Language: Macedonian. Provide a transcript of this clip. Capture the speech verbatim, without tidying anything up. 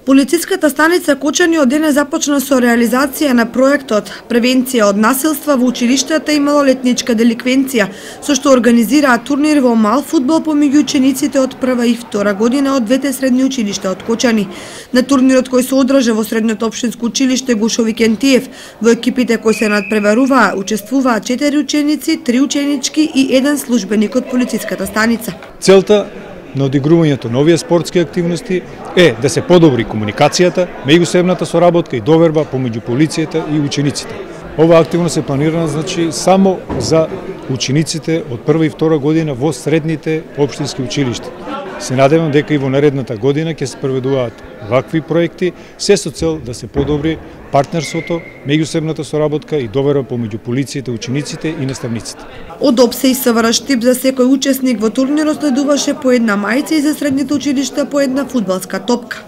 Полициската станица Кочани од денес започна со реализација на проектот Превенција од насилства во училиштата и малолетничка деликвенција, со што организираа турнир во мал фудбал помеѓу учениците од прва и втора година од двете средни училишта од Кочани. На турнирот кој се одржа во средното општинско училиште Гушови Кентиев, во екипите кои се надпреваруваа учествуваа четири ученици, три ученички и еден службеник од полициската станица. Целта на одигрувањето на овие спортски активности е да се подобри комуникацијата, меѓусебната соработка и доверба помеѓу полицијата и учениците. Ова активност е планирана значи само за учениците од прва и втора година во средните општински училишта. Се надевам дека и во наредната година ќе се проведуваат вакви проекти, се со цел да се подобри партнерството, меѓусебната соработка и доверба помеѓу полицијата, учениците и наставниците. Од опсе и СВР Штип за секој учесник во турнирот следуваше по една мајца и за средните училишта по една фудбалска топка.